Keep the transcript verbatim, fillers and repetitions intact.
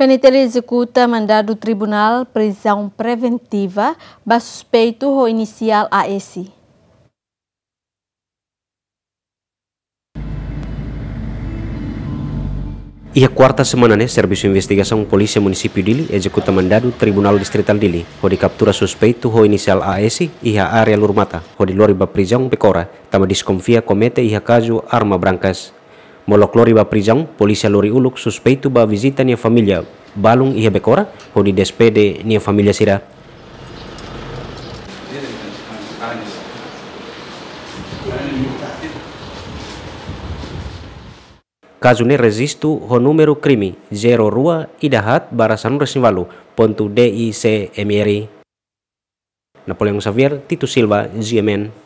PNTL ezekuta mandadu tribunál prizaun preventiva ba suspeitu ho inisiál A S. Iha kuarta semana ne'e, Servisu Investigasaun Polísia Munisípiu Dili ezekuta mandadu Tribunál Distritál Dili, hodi kaptura suspeitu ho inisiál A S iha área Lurmata, hodi lori ba prizaun Becora, tanba deskonfia komete iha kazu arma brankas. Molok lori ba prizaun, polísia lori uluk suspeitu ba vizita nia família balun iha Becora, hodi despede nia família sira. Kazu ne'e rejistu ho númeru krime zero rua ida haat barra sanulu-resin-ualu pontu D I C M R. Napoleão Xavier, Tito Silva, G M N.